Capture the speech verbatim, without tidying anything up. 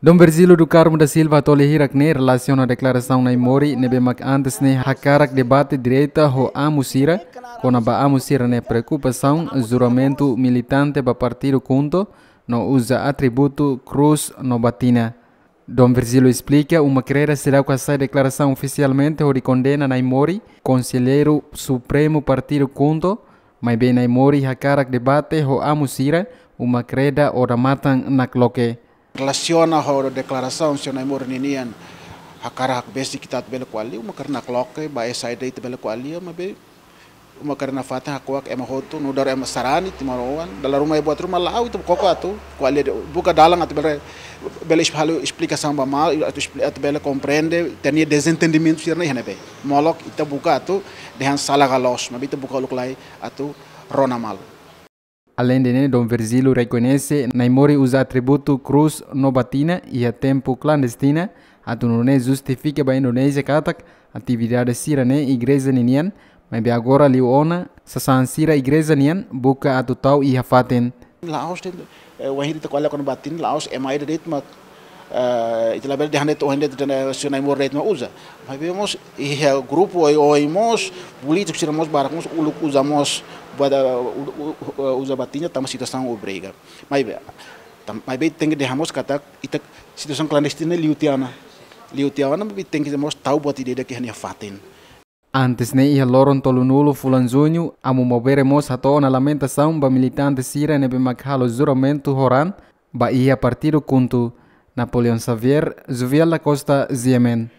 Dom Virgílio do Carmo da Silva hato'o lia hirak ne'e relasiona deklarasaun Naimori ne'ebé mak antes ne'e hakarak debate direta ho amu sira, kona-ba amu sira-nia preokupasaun juramentu militante ba partidu KHUNTO no uza atributu krús no batina. Dom Virgílio esplika, uma kreda seidauk hasai deklarasaun ofisialmente hodi kondena Naimori, Konselleiru Supremu Partidu KHUNTO, maibé Naimori hakarak debate ho amu sira, uma kreda odamatan nakloke. Relasiona ho deklarasaun señór Naimori ninian, hakarak besik ita atu bele ko'alia, uma kreda nakloke, ba esa ida ita bele ko'alia, maibé uma kreda nafatin hakuak ema hotu, nu'udar ema sarani, timoroan, dala ruma iha buat ruma la'o, ita koko atu ko'alia de'it, buka dalan atu bele, bele es-, halo esplikasaun ba malu, atu espli-, atu bele komprende, ita-nia dezentendimentu sira-ne'e iha ne'ebé. Molok ita buka atu dehan sala ka loos, maibé ita buka uluk lai atu rona malu. Aleinde ne'e, Dom Virgílio rekoñese Naimori uza atributu krús no batina iha tempu klandestina, atu nune'e justifika ba Indonézia katak atividade sira-ne'e igreja ninian, maibé agora liu ona, sasán sira igreja nian buka atu tau iha fatin. La'ós de'it, eh, wainhira ita ko'alia kona-ba batina, la'ós ema ida de'it mak, eh, ita labele dehan de'it, ohin de'it, dehan, eh, señór Naimori de'it mak uza. Maibé mós iha grupu oioin mós, polítiku sira mós barak mós uluk uza mós, buat, eh, u-, u-, u-, uza batina tanba situasaun obriga. Maibé, tam-, maibé tenke dehan mós katak ita situasaun klandestina liu tiha ona. Liu tiha ona, maibé tenke mós tau buat ida-idak iha nia fatin. Antes ne'e iha loron tolunulu fulan Juñu, Amu Maubere mós hato'o ona lamentasaun ba militante sira ne'ebé mak halo juramentu ho raan ba iha partidu KHUNTO. Napoleão Xavier, Juviel da Costa, G M N.